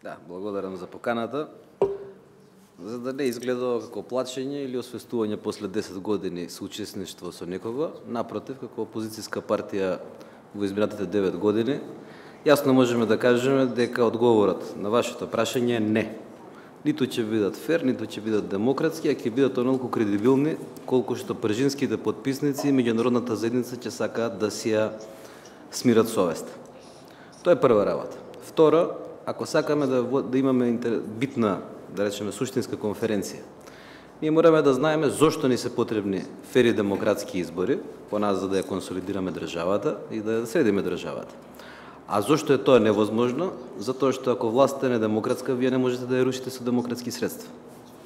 Да, благодарам за поканата. За да не изгледа како плачење или освестување после 10 години соучесништво со некого, напротив, како опозицијска партија во изминатите 9 години, јасно можеме да кажеме дека одговорот на вашето прашање е не. Ниту ќе бидат фер, ниту ќе бидат демократски, а ќе бидат онолку кредибилни, колку што пржинските потписници и меѓународната заедница ќе сакаат да си ја смират совест. Тоа е прва работа. Второ, ако сакаме да имаме битна, да речеме, суштинска конференција, ние мораме да знаеме зошто ни се потребни фери демократски избори, по нас за да ја консолидираме државата и да ја средиме државата. А зошто е тоа невозможно? Затоа што ако властта не е демократска, вие не можете да ја рушите со демократски средства.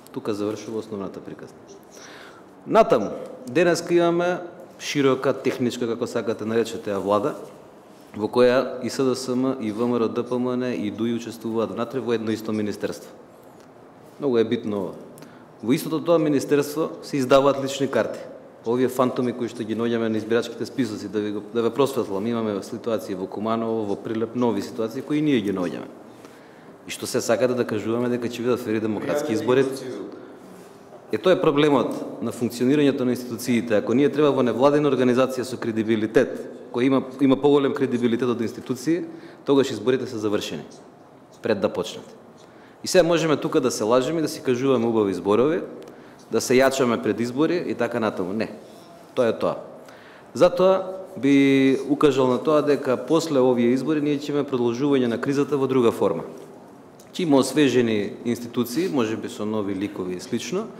Тука завршува основната приказна. Натаму, денеска имаме широка техничка, како сакате наречете ја влада, во која и СДСМ, и ВМРО, ДПМН, и ДУИ учествуваат внатре во едно исто министерство. Многу е битно ова. Во истото тоа министерство се издаваат лични карти. Овие фантоми кои што ги наоѓаме на избирачките списоци, да ве просветлам, имаме ситуации во Куманово, во Прилеп, нови ситуации кои ние ги наоѓаме. И што се сакате да кажуваме дека ќе бидат фери демократски избори. Тоа е проблемот на функционирањето на институциите. Ако ние треба во невладина организација со кредибилитет, која има поголем кредибилитет од институции, тогаш изборите се завршени пред да почнат. И сега можеме тука да се лажеме и да си кажуваме убави зборови, да се јачаме пред избори и така натаму. Не. Тоа е тоа. Затоа би укажал на тоа дека после овие избори ние ќе имаме продолжување на кризата во друга форма. Ќе има освежени институции, можеби со нови ликови и слично,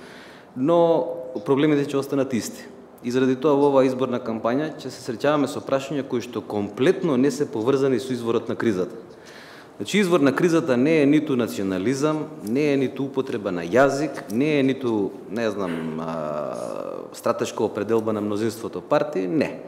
но проблемите ќе останат исти. И заради тоа во оваа изборна кампања ќе се среќаваме со прашања кои што комплетно не се поврзани со изворот на кризата. Значи, извор на кризата не е ниту национализам, не е ниту употреба на јазик, не е ниту, не знам, стратешка определба на мнозинството партии, не.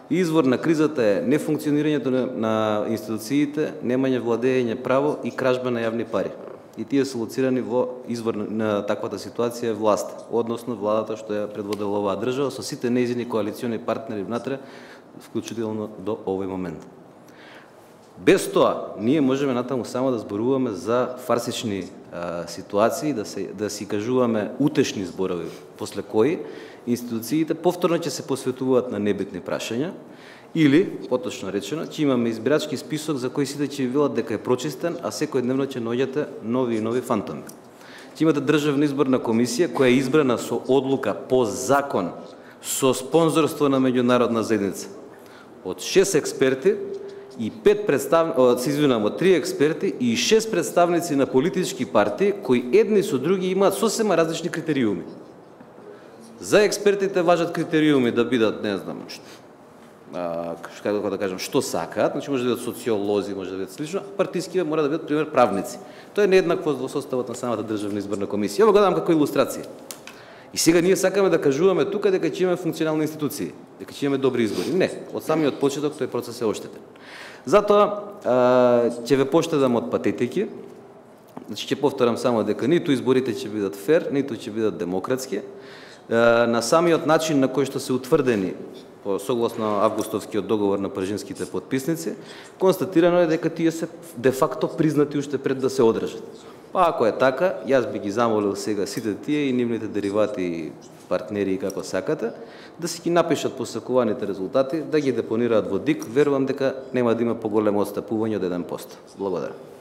Извор на кризата е нефункционирањето на институциите, немање владење право и кражба на јавни пари. И тие се лоцирани во извор на таквата ситуација е власт, односно владата што ја предводела оваа држава со сите нејзини коалициони партнери внатре, вклучително до овој момент. Без тоа, ние можеме натаму само да зборуваме за фарсични ситуации, да си кажуваме утешни зборови, после кои институциите повторно ќе се посветуваат на небитни прашања, или, поточно речено, ќе имаме избирачки список за кој сите ќе велат дека е прочистен, а секој дневно ќе наоѓате нови и нови фантоми. Ќе имате државна изборна комисија која е избрана со одлука по закон, со спонзорство на меѓународна заедница. Од 6 експерти и 3 експерти и 6 представници на политички партии кои едни со други имаат сосема различни критериуми. За експертите важат критериуми да бидат, не знам, како да кажам, што сакаат, значи може да бидат социолози, може да бидат слично, партиските мора да бидат, пример, правници. Тоа е нееднакво во составот на самата државна изборна комисија. Ово го дадам како илустрација. И сега ние сакаме да кажуваме тука дека ќе имаме функционални институции, дека ќе имаме добри избори. Не, од самиот почеток тој процес е оштетен. Затоа ќе ве поштедам од патетики. Значи ќе повторам само дека ниту изборите ќе бидат фер, ниту ќе бидат демократски. На самиот начин на кој што се утврдени согласно августовскиот договор на пржинските потписници, констатирано е дека тие се де факто признати уште пред да се одржат. Па ако е така, јас би ги замолил сега сите тие и нивните деривати и партнери како сакате, да си ги напишат посакуваните резултати, да ги депонираат во ДИК, верувам дека нема да има поголемо отстапување од 1%. Благодарам.